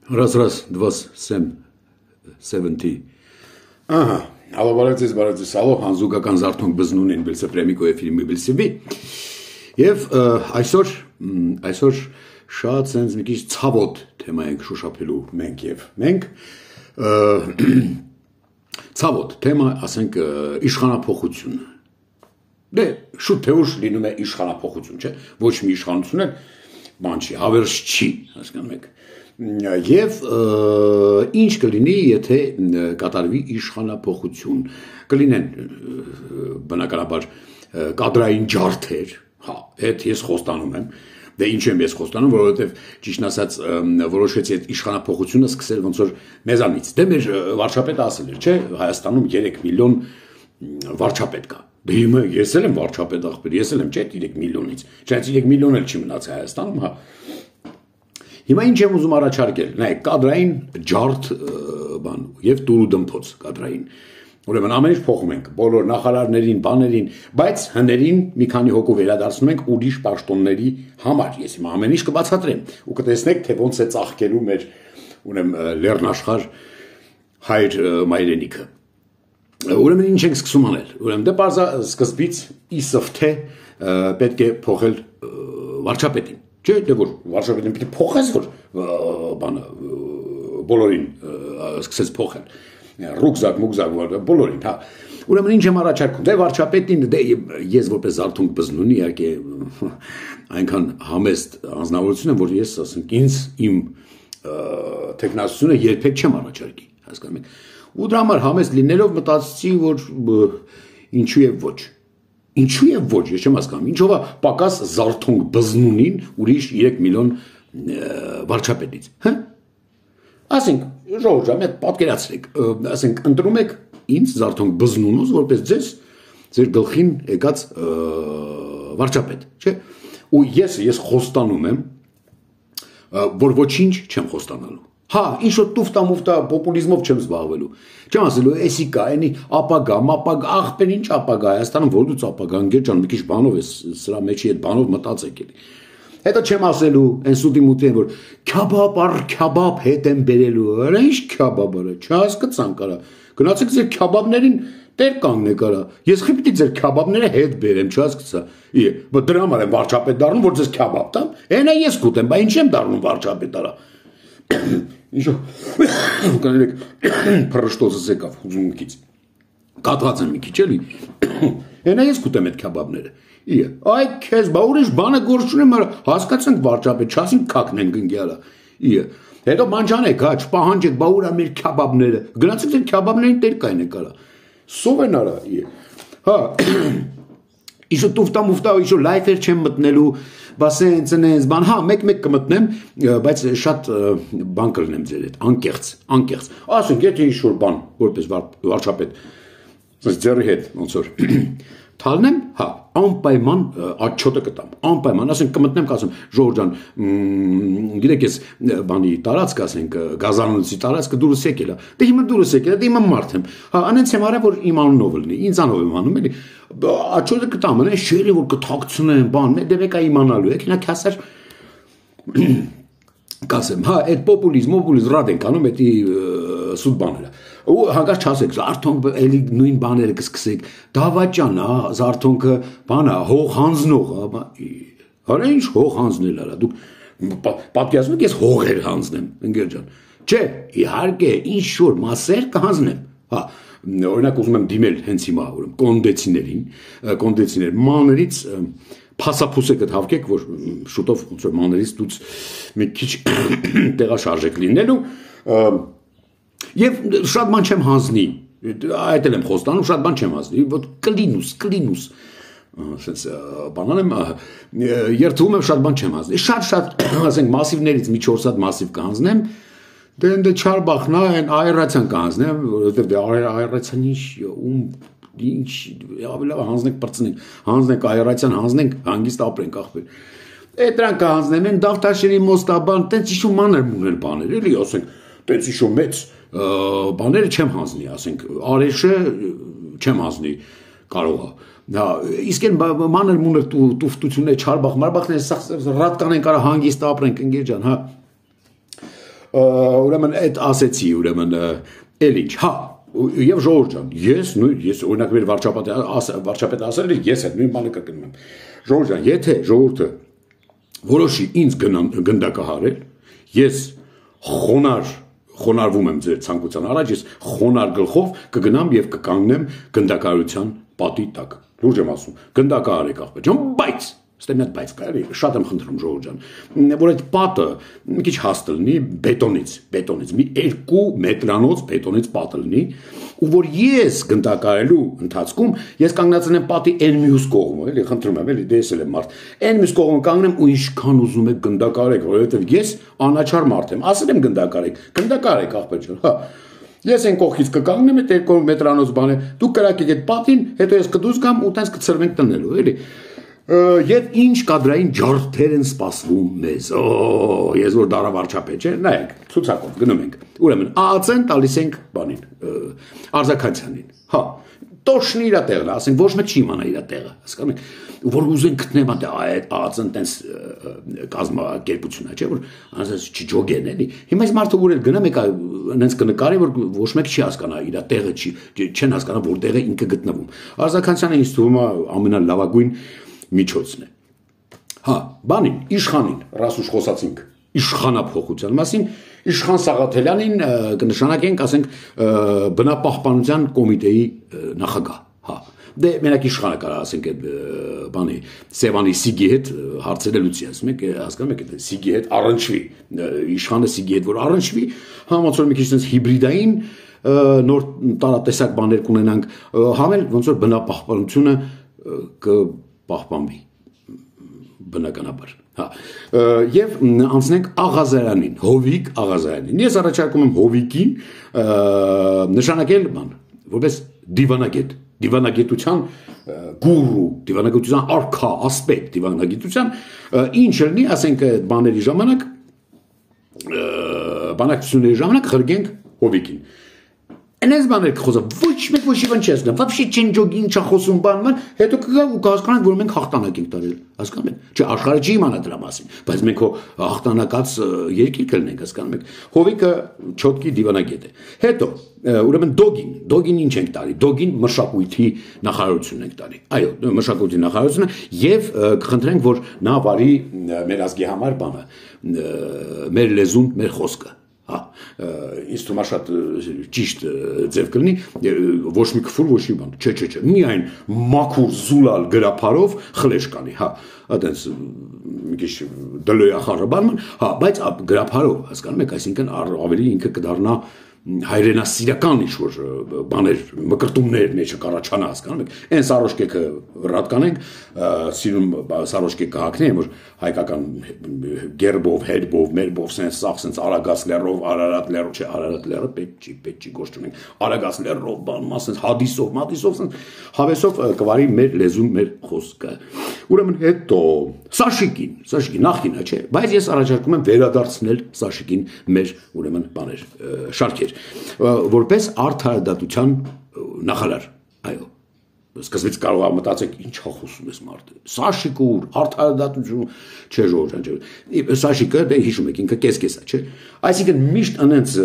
Раз, два, 70. Ահա, ալո բարեցես, ալո հանզուկական զարթոնք բզնուն են բիլսը պրեմիկոյ ֆիլմի բիլսիվի և այսօր շատ սենց մի քիչ ցավոտ թեմա ենք շոշափելու մենք և մենք ցավոտ թեմա, ասենք, իշխանափոխություն դե շուտ թե ուշ լինում է իշխանափոխություն, չէ, ոչ մի իշխանություն էլ բան չի, հավերժ չի, հասկանում եք Եվ ինչ կլինի, եթե կատարվի իշխանափոխություն, կլինեն բնականաբար կադրային ջարդեր, հետ ես խոստանում եմ, դե ինչ եմ ես խոստանում, որովհետև ճիշտ ասած որոշեցի այդ իշխանափոխությունը սկսել ոնց որ մեզանից, դե մեր վարչապետը ասել էր, չէ, Հայաստանում 3 միլիոն վարչապետ կա, դե հիմա ես էլ եմ վարչապետ ախպեր, ես էլ եմ, չէ, 3 միլիոնից, չէ, 3 միլիոն էլ չի մնաց Հայաստանում, հա Հիմա ինչ եմ ուզում առաջարկել, նայեք, կադրային ջարդ բան եւ տուրու դմփոց կադրային։ Ուրեմն ամեն ինչ փոխում ենք, բոլոր նախարարներին, բաներին, բայց հներին մի քանի հոգու վերադարձնում ենք ուրիշ պաշտոնների համար։ Ես հիմա ամեն ինչ կբացատրեմ ու կտեսնեք, թե ոնց է ծաղկելու մեր ուրեմն լեռնաշխարհ հայր մայրենիքը։ Ուրեմն ինչ ենք սկսում անել։ Ուրեմն դե բարձա սկզբից իսովթե պետք է փոխել վարչապետին Չէ, դե որ վարչապետին պիտի փոխես, որ բանը բոլորին սկսեց փոխել, ռուկզակ, բոլորին, հա, ուրեմն ինչ եմ առաջարկում, դե վարչապետին, դե ես որպես զարթոնք բզնունի, իհարկե այնքան համեստ անձնավորություն եմ, որ ես, ասենք, ինձ իմ թեկնածությունը երբեք չեմ առաջարկի, հասկանում եք, ու դրա համար համեստ լինելով մտածեցի, որ ինչու եւ ոչ Ինչու եւ ոչ, ես չեմ հասկանում, ինչով է պակաս զարթոնք բզնունին ուրիշ 3 միլիոն վարչապետից, հա? Ասենք, ժողովուրդ ջան, պատկերացրեք, ասենք, ընտրում եք ինձ զարթոնք բզնունուց, որպես ձեր գլխին եկած վարչապետ, չէ՞։ Ու ես խոստանում եմ, որ ոչինչ չեմ խոստանալու Հա, ինչ-որ տուֆտա-մուֆտա պոպուլիզմով չեմ զբաղվելու Չեմ ասելու, էսի կա, էնի ապագա, աղբեր ինչ ապագա Հայաստանում, որ դուց ապագա, ընկեր ջան, մի քիչ բանով ես սրա մեջի այդ բանով մտածեք էլի Հետո չեմ ասելու, այն սուտի մուտի են, որ քյաբաբ առ քյաբաբ հետ եմ բերելու Արա ինչ քյաբաբ արա, չհասկացան կարա Գնացեք ձեր քյաբաբներին տեր կանգնեք արա Ես խի պիտի ձեր քյաբաբները հետ բերեմ, չհասկացա Բայց դրա համար եմ վարչապետ դառնում, որ ձեզ քյաբաբ տամ Էնա ես կուտեմ, բա ինչ եմ դառնում վարչապետ արա Ինչո՞, կանելեք, պրշտոցս եկավ, ուզում մի քիչ, կատված եմ մի քիչ էլի, ենա ես կուտեմ այդ քյաբաբները, այ քեզ, բա ուրիշ բանը գործ չունեմ, հասկացանք վարչապետ, չասինք կակնենք ընկյալը, հետո մանջանեք, հա, չպահանջեք, բա ուրա մեր քյաբաբները, գնացեք ձեր քյաբաբներին տեր կայնեք արա, սով են արա, հա, Իշո տուֆտա-մուֆտա, իշո լայֆեր չեմ մտնելու, բասեն, ծնենց, բան, հա, մեկ կմտնեմ, բայց շատ բան կլնեմ ձեր հետ, անկեղծ, ասենք, եթե ինչ-որ բան, որպես վարչապետ, ձերի հետ, ոնց որ, թալնեմ, հա, անպայման աչոտը կտամ, անպայման, ասենք, կմտնեմ, կասեմ, ժողովուրդ ջան, գիտեք ես բանի տարածք, ասենք, գազանոցի տարածքը դուրս եկել է, դե հիմա դուրս եկել է, դե հիմա մարդ եմ, հա, անենց եմ արա, որ իմ անունով լինի, ինձ անով եմ անում, էլի, աչոտը կտամ, անեն շերի, որ կթակցնեմ, բան, դե մեկ է իմանալու, եք, նա կասար, կասեմ, հա, այդ պոպուլիզմ, ռադ ենք անում, էդի սուտ բաները, ու հանգած չասեք, զարթոնք էլի նույն բաները կսկսեք, դավաճան, հա, զարթոնքը, բանա, հող հանձնող, հա, ինչ հող հանձնել արա, դուք պատկերացնում եք, ես հողեր հանձնեմ, ընկեր ջան, չէ, իհարկե, ինչ որ մասեր կհանձնեմ, հա, օրինակ ուզում եմ դիմել հենց հիմա կոնդեցիներ, մաներից փասափուսեկը հավքեք, որ շուտով ոնց որ մաներից դուց մի քիչ տեղաշարժեք լինելու Եվ շատ բան չեմ հանձնի, այդ էլ եմ խոստանում, շատ բան չեմ հանձնի, որ կլինուս, ասենց բանան եմ, երթվում եմ շատ բան չեմ հանձնի, շատ, ասենք մասիվներից մի 4 հատ մասիվ կհանձնեմ, դե չարբախնա, այն այռացյան կհանձնեմ, որովհետև դե այռացյան ինչ, ավելի լավ հանձնենք պրծնենք, հանձնենք այռացյան, հանձնենք, հանգիստ ապրենք ախպեր, այդ դրանք կհանձնեմ, են դավթաշերի մոստաբան, տենց իշու մանր մուներ բաներ, էլի ասենք, տենց իշու մեծ բաները չեմ հանձնի, ասենք, արեշը չեմ հանձնի կարող է, իսկ են մանր մուներ տուֆտություններ, չարբախ, մարբախներ, ռատ կանենք արա հանգիստ ապրենք, ընկեր ջան, հա, ուրեմն այդ ասեցի, ուրեմն էլ ինչ, հա, եւ Ժողովուրդ ջան, ես օրինակ մեր վարչապետը ասել է, ես այդ նույն բանը կրկնում եմ։ Ժողովուրդ ջան, եթե ժողովուրդը որոշի ինձ գնդակահարել, ես խոնարհվում եմ ձեր ցանկության առաջ, ես խոնար գլխով կգնամ եւ կկանգնեմ գնդակահարության պատի տակ։ Լուրջ եմ ասում, գնդակահարեք աղբեր ջան, բայց Ստե մի հատ բայց կարելի շատ եմ խնդրում Ժողովուրդ ջան, որ այդ պատը մի քիչ հաստ լինի բետոնից, մի 2 մետրանոց բետոնից պատը լինի, ու որ ես գնդակահարելու ընթացքում ես կանգնացնեմ պատի այն մյուս կողմը, էլի խնդրում եմ, էլի դեսել եմ մարդ, այն մյուս կողմը կանգնեմ ու ինչքան ուզում եք գնդակահարեք, որովհետև ես անաչառ մարդ եմ, ասել եմ գնդակահարեք աղբեր ջան, հա Ես այն կողքից կկանգնեմ այդ 2 մետրանոց բանը, դուք կրակեք այդ պատին, հետո ես կդուս գամ ու տենց կցրվենք տնելու, էլի Եվ ինչ կադրային ջարդեր են սպասվում մեզ, ես որ դարավարչապետ չէ, նայեք, ցուցակով գնում ենք, ուրեմն ԱԱՑ-ն տալիս ենք բանին, Արձականցյանին, հա, տոշնի իրա տեղն, ասենք ոչ մեկ չի իմանա իրա տեղը, հասկանում եք, որ ուզեն գտնեմ այդ ԱԱՑ-ն տենց կազմակերպություն է, չէ, որ ասես չջոգեն էլի, հիմա այս մարդը որ էլ գնամ եկա, նենց կնկարի, որ ոչ մեկ չի հասկանա իրա տեղը, չեն հասկանա, որ տեղը ինքը գտնվում, Արձականցյանը ինձ թվում է ամենալավագույն միջոցն է։ Հա, բանին, իշխանին, ռասուշ խոսացինք, իշխանափոխության մասին, Իշխան Սաղաթելյանին կնշանակենք, ասենք, բնապահպանության կոմիտեի նախագահ, հա։ Դե մենակ իշխանը կարա ասենք այդ բանի Սևանի Սիգի հետ հարցերը լուծի, ասում եք, հասկանում եք, Սիգի հետ առնչվի, իշխանը Սիգի հետ որ առնչվի, ոնց որ մի քիչ sense հիբրիդային նոր տարատեսակ բաներ կունենանք, համել ոնց որ բնապահպանությունը կպահպանվի բնականաբար, հա, եւ անցնենք Աղազարյանին, Հովիկ Աղազարյանին։ Ես առաջարկում եմ Հովիկին նշանակել բան, որպես դիվանագետ, դիվանագիտության գուրու, դիվանագիտության արքա, ասպետ, դիվանագիտության ինչ լինի, ասենք բաների ժամանակ, բանակցությունների ժամանակ խրգենք Հովիկին։ Այնպես բաներ կխոսա, ոչ մեկ ոչի բան չի ասում, вообще չեն ջոգի ինչա խոսում բանման, հետո կգա ու կհասկանանք, որ մենք հաղթանակ ենք տարել, հասկանում եք։ Չէ, աշխարհը չի իմանա դրա մասին, բայց մենք հո հաղթանակած երկիր կլինենք, հասկանում եք։ Հովիկը չոտկի դիվանագետ է։ Հետո, ուրեմն Դոգին ինչ ենք տարի։ Դոգին մշակույթի նախարարություն ենք տարի։ Այո, մշակույթի նախարարությունը եւ կխնդրենք, որ նա վարի մեր ազգի համար բանը, մեր լեզուն, մեր խոսքը։ Հա, ինձ թվում է շատ ճիշտ ձև կլինի, ոչ մի քֆուր, ոչ մի բան, չէ, միայն մաքուր զուլալ գրափարով խլեշ կանի, հա, այդպես մի քիչ դլոյախառը բանման, հա, բայց գրափարով, հասկանում եք, այսինքն ավելի ինքը կդառնա հայրենասիրական ինչ-որ բաներ, մկրտումներ մեջը կառաջանա, հասկանում եք, այն սարոշկեքը ռատ կանենք, սիրում սարոշկեկ կհակնեն, որ հայկական գերբով, հետբով, մերբով, սենց արագած լեռով, Արարատ լեռով, չէ, Արարատ լեռը պետք չի գործում ենք, արագած լեռով, բանմա, սենց հադիսով, մատիսով, սենց հավեսով կվարի մեր լեզուն, մեր խոսքը։ Ուրեմն հետո Սաշիկին նախինը, չէ, բայց ես առաջարկում եմ վերադարձնել Սաշիկին մեր ուրեմն բաներ, շարքեր, որպես արդարադատության նախարար, այո, սկզբից կարող է մտածեք ինչա խոսում ես մարդը, Սաշիկը ուր, արդարադատություն, չէ Ժողովուրդ ջան, Սաշիկը դե հիշում եք ինքը կես-կես է, չէ, այսինքն միշտ անենց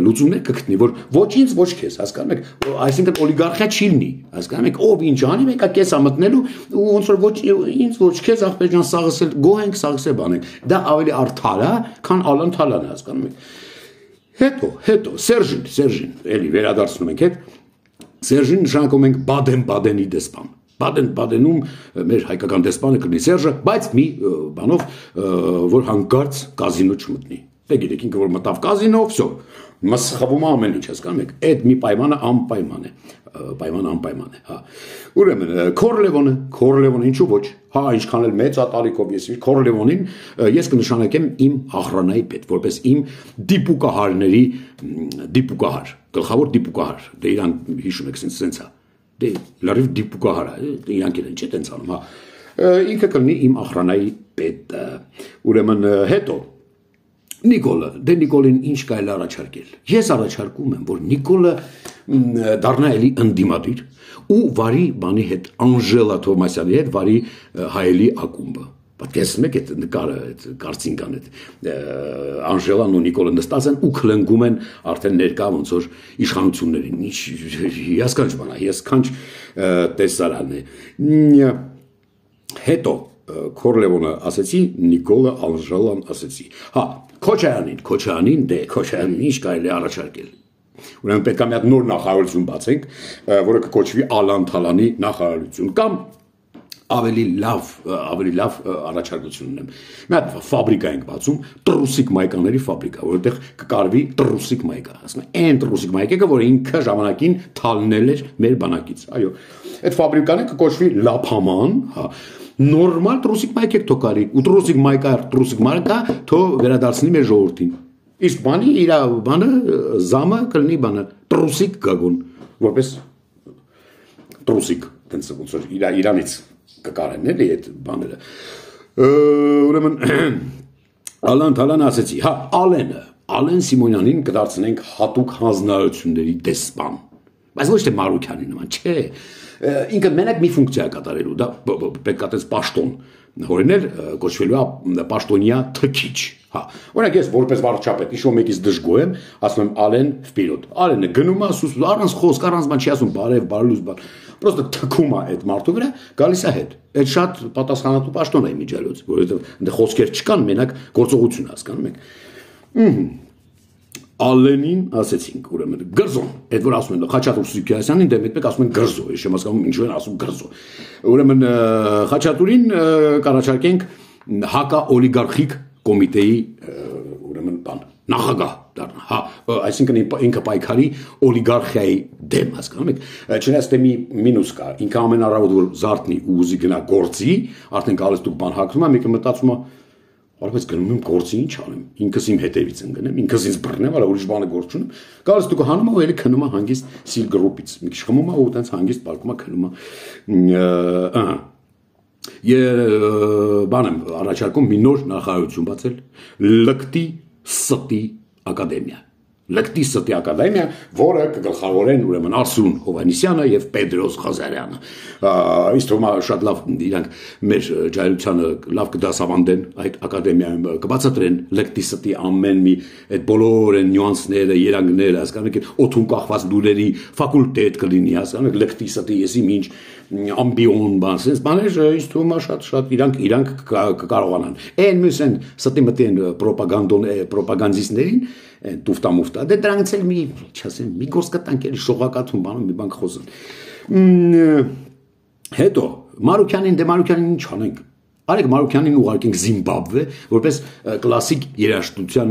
լուծումներ կգտնի, որ ոչ ինձ, ոչ քեզ, հասկանում եք, այսինքն օլիգարխիա չի լինի, հասկանում եք, ով ինչ անի, մեկը կես է մտնելու ու ոնց որ ոչ ինձ, ոչ քեզ, ախպեր ջան, սաղսել, գոհենք, սաղսել բանենք, դա ավելի արդար է, քան Ալան Թալանը, հասկանում եք։ Հետո Սերժին, էլի վերադարձնում ենք հետ, Սերժին նշանակում ենք Բադեն-Բադենի դեսպան։ Բադեն-Բադենում մեր հայկական դեսպանը կլինի Սերժը, բայց մի բանով, որ հանկարծ կազինո չմտնի։ Դե գիտեք, ինքը որ մտավ կազինո, վсё, մսխվում ամեն ինչ, հասկանում եք։ Այդ մի պայմանը անպայման է, անպայման է, հա։ Ուրեմն Քորլևոնը ինչու ոչ, հա, ինչքան էլ մեծ ատալիկով ես Քորլևոնին ես կնշանակեմ իմ աղրանայի պետ, որպես իմ դիպուկահարների դիպուկահար, գլխավոր դիպուկահար, դե իրան հիշում եք սենց է, դե լրիվ դիպուկահար է, իրանք են չէ տենց անում, հա։ Ինքը կլինի իմ աղրանայի պետը։ Ուրեմն հետո Նիկոլին ինչ կարելի առաջարկել։ Ես առաջարկում եմ, որ Նիկոլը դառնա էլի ընդդիմադիր ու վարի բանի հետ Անժելա Թովմասյանի հետ վարի հայելի ակումբը։ Պատկերացնում եք այդ նկարը, այդ կարծինկան, այդ Անժելան ու Նիկոլը նստած են ու քլնգում են արդեն ներկա ոնց որ իշխանություններին։ Ինչ հիասքանչ բան է, հիասքանչ տեսարան է։ Հետո Քորլևոնը ասեցի, Նիկոլը Անժելան ասեցի։ Հա, Քոչարյանին, Քոչարյանին ինչ կարելի առաջարկել։ Ուրեմն պետք է մի հատ նոր նախարարություն բացենք, որը կկոչվի Ալան-Թալանի նախարարություն կամ ավելի լավ առաջարկություն ունեմ։ Մի հատ ֆաբրիկա ենք բացում, տրուսիկ մայկաների ֆաբրիկա, որտեղ կկարվի տրուսիկ մայկա, ասում են, այն տրուսիկ մայկը, որը ինքը ժամանակին թալնել էր մեր բանակից։ Այո, այդ ֆաբրիկան կկոչվի Լափաման, հա, նորմալ տրուսիկ մայք եք թողարի, ու տրուսիկ մայկա թո վերադարձնի մեր ժողովրդին։ Իսկ բանի իր բանը զամը կլինի բանը տրուսիկ գագուն, որպես տրուսիկ, տենց ոնց որ իրանից կկարեն էլի այդ բաները։ Ուրեմն Ալան-Թալան ասեցի, հա, Ալեն Սիմոնյանին կդարձնենք հատուկ հանձնարարությունների դեսպան, բայց ոչ թե Մարուքյանի նման, չէ, ինքը մենակ մի ֆունկցիա կատարելու, դա պետք է տես պաշտոն հորինել, կոչվելու է պաշտոնյա թքիչ, հա, օրինակ ես որպես վարչապետ իշո մեկից դժգոհ եմ, ասում եմ Ալեն վպիրոտ, Ալենը գնում է ասում առանց խոսք, առանց բան չի ասում բարև, բարելուց բան, պրոստը թքում է այդ մարդու վրա, գալիս է հետ, այդ շատ պատասխանատու պաշտոն է միջալոց, որովհետև այնտեղ խոսքեր չկան, մենակ գործողություն հասկանում եք։ Ալենին ասեցինք, ուրեմն գրզոն, այդ որ ասում են Խաչատուր Սուքիասյանին, դե մեկ ասում են գրզո, ես չեմ հասկանում ինչու են ասում գրզո։ Ուրեմն Խաչատուրին կառաջարկենք հակաօլիգարխիկ կոմիտեի ուրեմն բան, նախագահ դառնա, հա, այսինքն ինքը պայքարի օլիգարխիայի դեմ, հասկանում եք, չնայած թե մի մինուս կա, ինքը ամեն առավոտ որ զարթնի ու ուզի գնա գործի, արդեն գալիս դուք բան հագնում է, մեկը մտածում է Արբես գնում եմ գործի ինչ անեմ, ինքս իմ հետևից ընկնեմ, ինքս ինձ բռնեմ, այլ ուրիշ բանը գործ չունեմ։ Գալիս դուք հանում եք ու ելի քնում եք հանգիստ սիլ գրուպից։ Մի քիչ խմում եք ու տենց հանգիստ բալկում եք քնում եք։ Բան եմ առաջարկում մի նոր նախարարություն բացել, Լկտի Ստի ակադեմիա։ Լկտի Ստի ակադեմիա, որը կգլխավորեն ուրեմն Արսուն Հովհաննիսյանը եւ Պետրոս Ղազարյանը։ Իսկ թվում է շատ լավ իրանք մեր ջահելությանը լավ կդասավանդեն այդ ակադեմիայում կբացատրեն Լկտի Ստի ամեն մի այդ բոլոր այն նյուանսները, երանգները, հասկանում եք, օթում կախված լուրերի ֆակուլտետ կլինի, հասկանում եք, Լկտի Ստի եսի ինչ ամբիոն բան, sense բաներ ինձ թվում է շատ իրանք կկարողանան։ Այն մյուս են ստի մտի են պրոպագանդիստներին տուֆտամուֆտա, դե դրանից էլ մի, չասեմ, մի գործ կտանք էլի շողակաթում բանում մի բան խոսեն։ Հետո Մարուքյանին ինչ անենք։ Արեք Մարուքյանին ուղարկենք Զիմբաբվե, որպես կլասիկ երաժշտության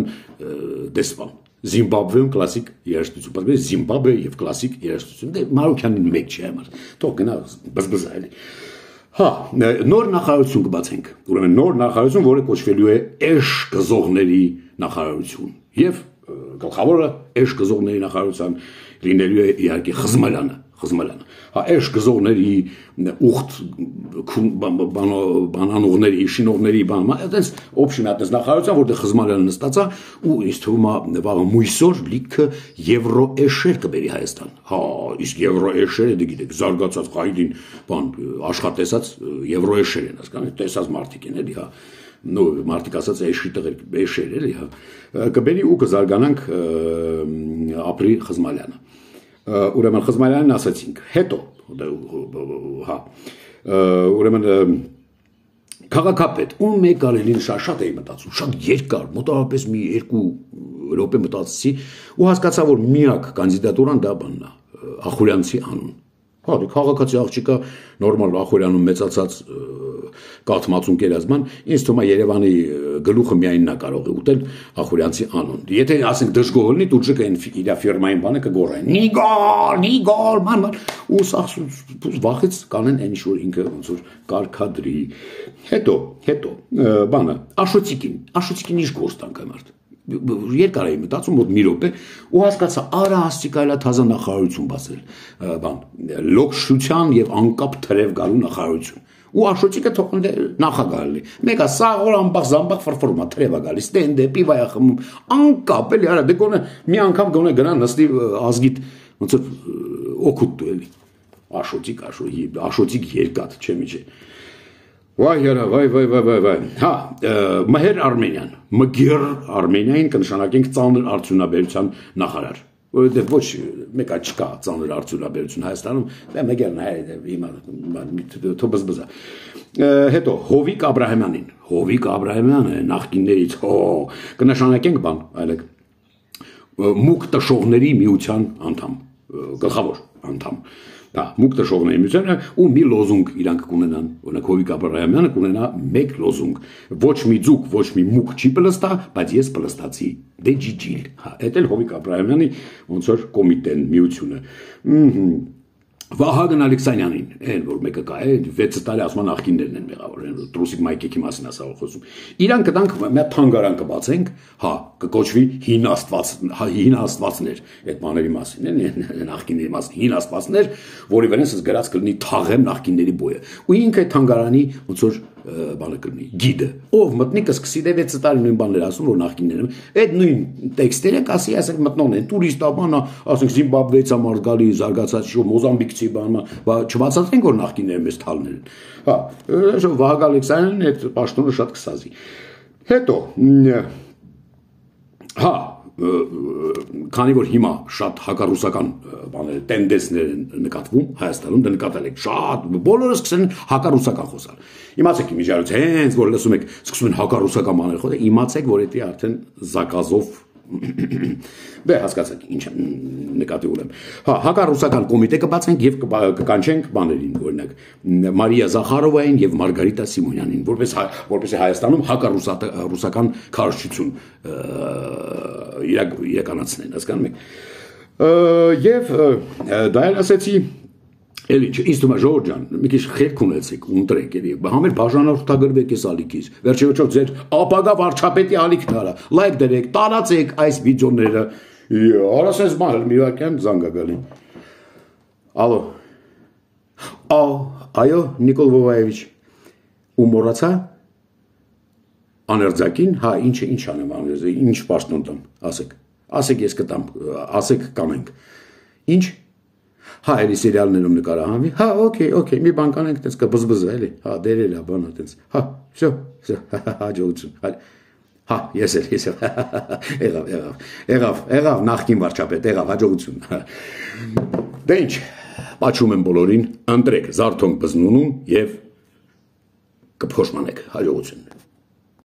դեսպան։ Զիմբաբվեում կլասիկ երաժշտություն, բայց Զիմբաբվե եւ կլասիկ երաժշտություն։ Դե Մարուքյանին մեկ չի համար։ Թող գնա բզբզա էլի։ Հա, նոր նախարարություն կբացենք։ Ուրեմն նոր նախարարություն, որը կոչվելու է Էշ գզողների նախարարություն։ Եւ գլխավորը Էշ գզողների նախարարության լինելու է իհարկե Խզմալյանը։ Հա, Էշ գզողների ուխտ բանանողների, շինողների բան, այդպես օբշի մի հատ նախարարության, որտեղ Խզմալյանը նստած է ու ինձ թվում է վաղը մույսոր լիքը եվրոէշեր կբերի Հայաստան։ Հա, իսկ եվրոէշերը դե գիտեք, զարգացած հայդին բան աշխատեսած եվրոէշեր են, հասկանում եք, տեսած մարդիկ են էլի, հա։ Նո մարդիկ ասած էշի տղեր էշեր էլի, հա։ Կբերի ու կզարգանանք ապրի Խզմալյանը։ Ուրեմն Խզմալյանին ասացինք, հետո, հա, ուրեմն քաղաքապետ, ում մեկ արելին շատ էի մտածում, շատ երկար, մոտավորապես մի 2 րոպե մտածեցի ու հասկացա, որ միակ կանդիդատուրան դա բանն է, Ախուրյանցի անուն։ Հա, դե քաղաքացի աղջիկա նորմալ Ախուրյանում մեծացած կաթմացուն կերազման, ինձ թվում է Երևանի գլուխը միայն նա կարող է ուտել Ախուրյանցի անուն։ Եթե ասենք դժգոհ լինի, դուրջը իր ֆիրմային բանը կգոռեն։ Նիգոլ, ման, ու վախից կանեն այն ինչ որ ինքը ոնց որ կարկադրի։ Հետո բանը, Աշոտիկին ինչ գործ տանք այդ երկար էի մտածում մոտ մի րոպե ու հասկացա արա աստիկայլա թազա նախարարություն բացել բան լոքշության եւ անկապ թրև գալու նախարարություն ու Աշոտիկը թողնել նախագահ լինի մեկը սաղոր ամբախ զամբախ ֆրֆորմա թրև գալիս ստենդեպի վայա խմում անկապ էլի արա դե գոնե մի անգամ գոնե գնա նստի ազգիտ ոնց որ օգուտ դու էլի Աշոտիկ երկաթ չէ միջի Վայ երա, վայ, հա, Մհեր Արմենյան, Մգիր Արմենիային կնշանակենք ծանր արդյունաբերության նախարար, որովհետև ոչ մեկա չկա ծանր արդյունաբերություն Հայաստանում, Մգիրն է, հիմա թոբզբզա։ Հետո Հովիկ Աբրահամյանին, Հովիկ Աբրահամյանը նախկիններից, կնշանակենք բան, այլեք, Մուկ տշողների միության անդամ, գլխավոր անդամ։ Դա մուկ տշողների միությունը ու մի լոզունգ իրանք կունենան, օրինակ Հովիկ Աբրահամյանը կունենա մեկ լոզունգ, ոչ մի ձուկ, ոչ մի մուկ չի պլստա, բայց ես պլստացի, դե ջիջիլ, հա, էդ էլ Հովիկ Աբրահամյանի ոնց որ կոմիտեն, միությունը։ Վահագն Ալեքսանյանին, այն որ մեկը կա, 6 տարի ասում նախկիններն են մեղավոր, Տրուսիկ Մայկեքի մասին ասա խոսում։ Իրան կտանք մի թանգարան կբացենք, հա, կկոչվի հին աստվածներ, այդ բաների մասին, նախկինների մասին, հին աստվածներ, որի վրա ես գրած կլինի թաղեմ նախկինների բոյը։ Ու ինքը այդ թանգարանի ոնց որ բանը կլինի, գիդը, ով մտնի կսկսի դե 6 տարի նույն բաներ ասում, որ նախկիններն այդ նույն տեքստերը կասի, ասենք մտնողն են, տուրիստա բանա, ասենք Զիմբաբվեից ամար գալի, զարգացած շո Մոզամբիկցի բանը, չբացատրենք որ նախկինները մեզ թալներ են։ Հա, Վահագն Ալեքսանյանն այդ պաշտոնը շատ կսազի։ Հետո հա, քանի որ հիմա շատ հակառուսական բաներ, տենդենսներ են նկատվում Հայաստանում, դա նկատել եք շատ, բոլորը սկսեն հակառուսական խոսալ։ Իմացեք իմիջիայից հենց որ լսում եք, սկսում են հակառուսական բաներ խոսել, իմացեք, որ դա արդեն զակազով դե հասկացեք ինչ նկատի ունեմ։ Հա, հակառուսական կոմիտե կբացենք եւ կկանչենք բաներին, օրինակ Մարիա Զախարովային եւ Մարգարիտա Սիմոնյանին, որպես Հայաստանում հակառուսական քարոզչություն իրականացնեն, հասկանում եք։ Եվ դա էլ ասեցի Էլի ինձ թվում է Ժորժ ջան, մի քիչ խելք ունեցեք, ունտրեք էլի, համեր բաժանորդագրվեք այս ալիքից։ Վերջի վերջով ձեր ապագա վարչապետի ալիքն արա, լայք դրեք, տարածեք այս վիդեոները։ Արասես բան, մի վարքյան զանգ է գալի։ Ալո։ Այո, Նիկոլ Վովայևիչ։ Ու մոռացա։ Աներձակին, հա, ինչ անեմ աներձակին, ինչ պաշտոն տամ, ասեք։ Ասեք ես կտամ, ասեք կանենք։ Ինչ Հա, էլի սերիալներում նկարահանվի, հա, օքեյ, մի բան կանենք, տենց կբզբզը, էլի, հա, դերել է, բանա, տենց, հա, հաջողություն, հա, ես էլ, եղավ, նախկին վարչապետ, եղավ, հաջողություն, դե ինչ, պաչում եմ բոլորին, ընտրեք Զարթոնք Բզնունուն և կփոշմանեք, հաջողություն։